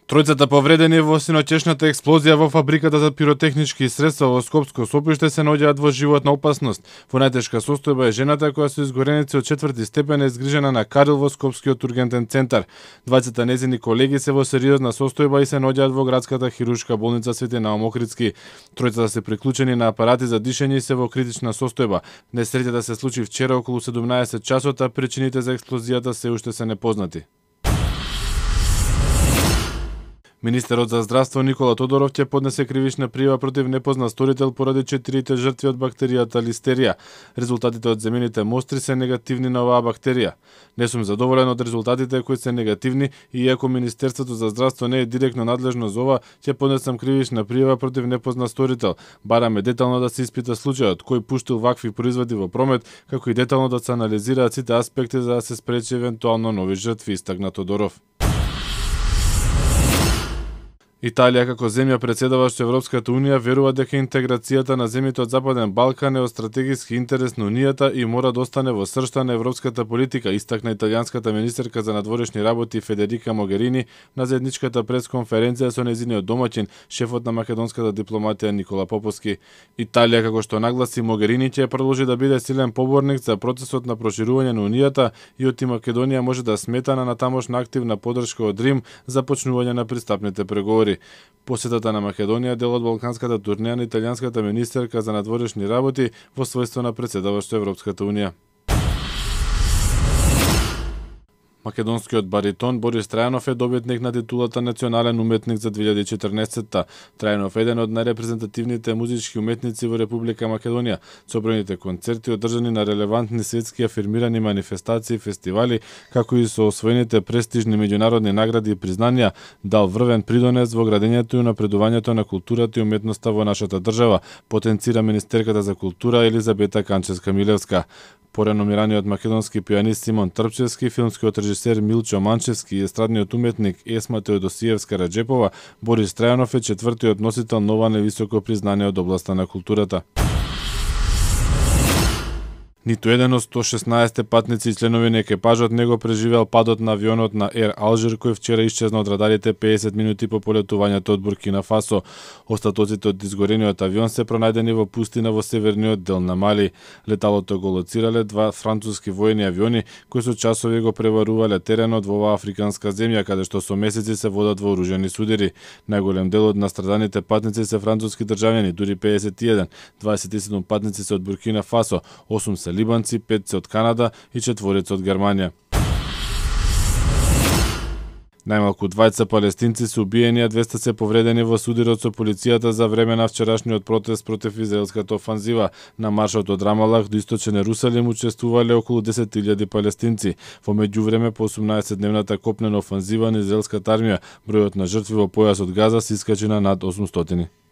Тројцата повредени во синоќешната експлозија во фабриката за пиротехнички средства во Скопско Сопиште се наоѓаат во животна опасност. Во најтешка состојба е жената која со изгореници од 4-ти степен е згрижена на Карил во Скопскиот ургентен центар. Двајцата нејзини колеги се во сериозна состојба и се наоѓаат во градската хируршка болница Свети Наум Охридски. Тројцата се приклучени на апарати за дишење и се во критична состојба. Несреќата се случи вчера околу 17 часот, а причините за експлозијата се уште се непознати. Министерот за здравство Никола Тодоров ќе поднесе кривична пријава против непознат сторител поради 4 жртви од бактеријата листерија. Резултатите од земените мостри се негативни на оваа бактерија. Не сум задоволен од резултатите кои се негативни и иако Министерството за здравство не е директно надлежно за ова, ќе поднесам кривична пријава против непознат сторител. Бараме детално да се испита случајот, кој пуштил вакви производи во промет, како и детално да се анализираат сите аспекти за да се спречи евентуално нови жртви, истакна Тодоров. Италија како земја претседаваща Европската Унија верува дека интеграцијата на земјите од Западен Балкан е од стратегиски интерес на Унијата и мора да остане во сршта на европската политика, истакна италијанската министерка за надворешни работи Федерика Могерини на заедничката пресконференција со нејзиниот домаќин, шефот на македонската дипломатија Никола Поповски. Италија, како што нагласи Могерини, ќе продолжи да биде силен поборник за процесот на проширување на Унијата и оти Македонија може да смета на тамошна активна поддршка од Рим за почнување на пристапните преговори. Посетата на Македонија дел од балканската турнеја на италијанската министерка за надворешни работи во својство на претседаващо Европската Унија. Македонскиот баритон Борис Трајанов е добитник на титулата национален уметник за 2014-та. Трајанов е еден од најрепрезентативните музички уметници во Република Македонија. Собраните концерти одржани на релевантни светски афирмирани манифестации и фестивали, како и со освоените престижни меѓународни награди и признанија, дал врвен придонес во градењето и напредувањето на културата и уметноста во нашата држава, потенцира министерката за култура Елизабета Канчевска-Милевска. Пореномираниот македонски пианист Симон Трпчевски, филмскиот режисер Милчо Манчевски и естрадниот уметник Есма Теодосиевска-Раджепова, Борис Трајанов е четвртиот носител на ова невисоко признание од областа на културата. Ниту еден од 116 патници и членови на екипажот не го преживеал падот на авионот на Air Alger кој вчера исчезна од радарите 50 минути по полетувањето од Буркина Фасо. Остатоците од изгорениот авион се пронајдени во пустина во северниот дел на Мали. Леталото го лоцирале два француски воени авиони кои со часови го преварувале теренот во оваа африканска земја каде што со месеци се водат вооружени судири. Најголем дел од настраданите патници се француски државјани, дури 51, 27 патници се од Буркина Фасо, 8 се либанци, 5 се од Канада и 4 од Германија. Најмалку 20 палестинци се убиени, а 200 се повредени во судирот со полицијата за време на вчерашниот протест против израелската офанзива. На маршот од Рамалах до источен Ерусалим учествувале околу 10.000 палестинци. Во меѓувреме по 18-дневната копнена офанзива на израелската армија, бројот на жртви во појасот Газа се искачи на над 800.